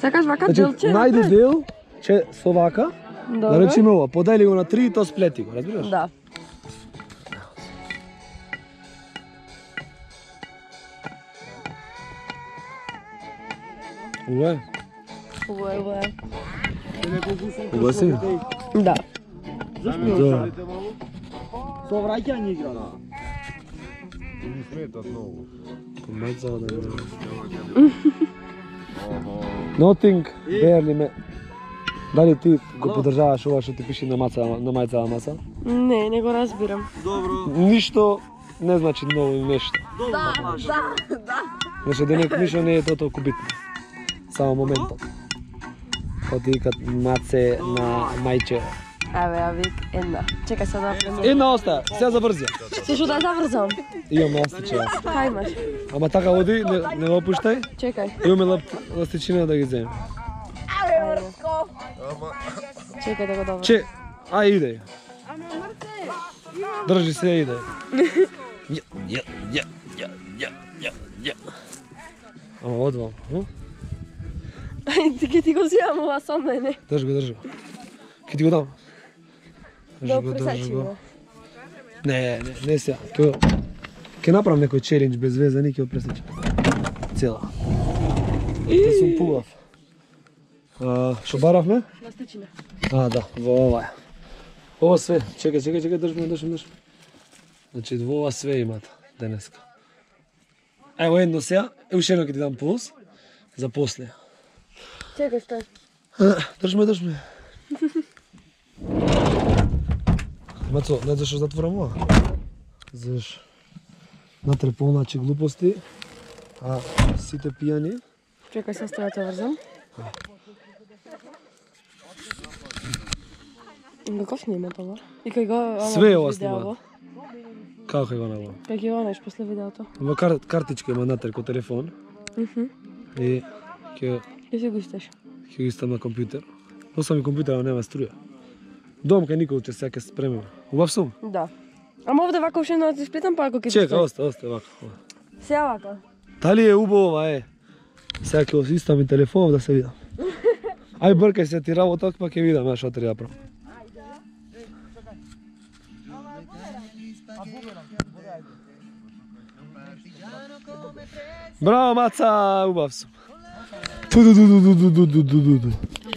Сакаш вака делче? Најди дел, че со вака, да речеме ова, подели го на 3 и то сплети го, разбираш? Да. Ова е? Ова е. Ова си? Да. Зашто не шалите малку? Со враќање игра, да. Не сметат многу. Помацава да не. Nothing, barely me. Дали ти го поддржаваш ова што ти пише на мајцава маса? Не, не го разбирам. Добро. Ништо не значи ново нешто. Да. Значи денек ништо не е толку битно. Само моментот. Кога ти викат маце на мајче. Еве, ја вик една. Чекај сега да пренесам. Една остаа, сега заврзи. Се што да заврзам? Имам ластиче. Кај имаш? Ама така оди, не го опуштај. Чекај. Имаме ластичина да ги земем. Чекај да го добавам. Че, иде. Држи се, иде. Ама одвам. Ке ти го зијам ова со мене. Држи го. Ке ти го дам. Да пресачи го. Не сега. Ке направам некој челендж без везани, ке го пресечам. Цела. Да сум пугав. Што баравме? Ластичина. Да, во ова е. Ова све, чекај, држи. Значи, во ова све имат денеска. Ево едно сега, уште едно ќе ти дам плюс, за после. Чекај, стой. Држме. Мацо, не зашо затворам ова? Заш натре полначи глупости, а сите пијани. Чекај, се стоја те врзам. Каков снима това? И кај го... Све ова снима. Како кај го набава? Кај ги онеш после видеото. Во картичка има натре ко телефон. И ќе си го истеш. Ќе го истам на компјутер. Носам и компјутер, ама нема струја. Дом кај никој ќе сега ќе спремим. Убав сум? Да. Ама овде вака уште да ти сплитам, па ако ќе ти Чека, оста вака. Сега вака. Дали е убаво ова е? Сега ќе го истам и телефонов да се видам. Ај бркај се ти работа, па ќе видам ја што треба да правам. Браво, маца, убав сум.